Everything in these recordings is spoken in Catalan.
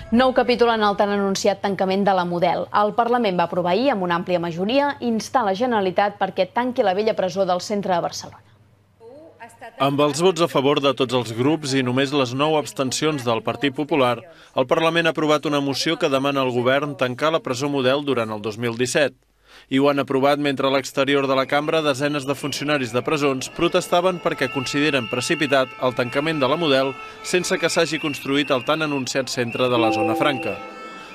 Nou capítol en el tan anunciat tancament de la Model. El Parlament va aprovar ahir, amb una àmplia majoria, instar la Generalitat perquè tanqui la vella presó del centre de Barcelona. Amb els vots a favor de tots els grups i només les 9 abstencions del Partit Popular, el Parlament ha aprovat una moció que demana al govern tancar la presó Model durant el 2017. I ho han aprovat mentre a l'exterior de la cambra desenes de funcionaris de presons protestaven perquè consideren precipitat el tancament de la Model sense que s'hagi construït el tan anunciat centre de la Zona Franca.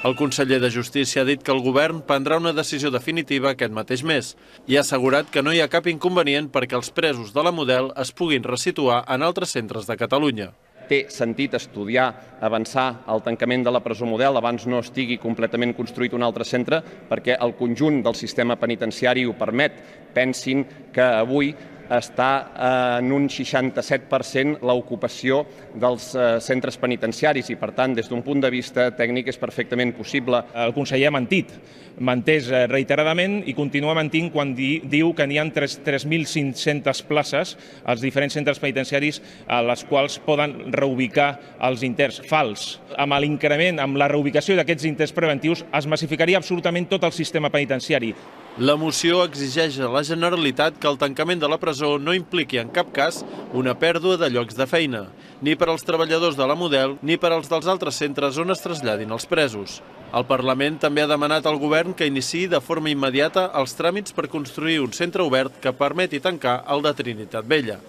El conseller de Justícia ha dit que el govern prendrà una decisió definitiva aquest mateix mes i ha assegurat que no hi ha cap inconvenient perquè els presos de la Model es puguin resituar en altres centres de Catalunya. Té sentit estudiar, avançar el tancament de la presó Model abans no estigui completament construït un altre centre perquè el conjunt del sistema penitenciari ho permet. Pensin que avui està en un 67% l'ocupació dels centres penitenciaris i, per tant, des d'un punt de vista tècnic és perfectament possible. El conseller ha mentès reiteradament i continua mentint quan diu que n'hi ha 3.500 places als diferents centres penitenciaris a les quals poden reubicar els interns. Fals. Amb l'increment, amb la reubicació d'aquests interns preventius es massificaria absolutament tot el sistema penitenciari. La moció exigeix a la Generalitat que el tancament de la presó no impliqui en cap cas una pèrdua de llocs de feina, ni per als treballadors de la Model ni per als dels altres centres on es traslladin els presos. El Parlament també ha demanat al govern que iniciï de forma immediata els tràmits per construir un centre obert que permeti tancar el de Trinitat Vella.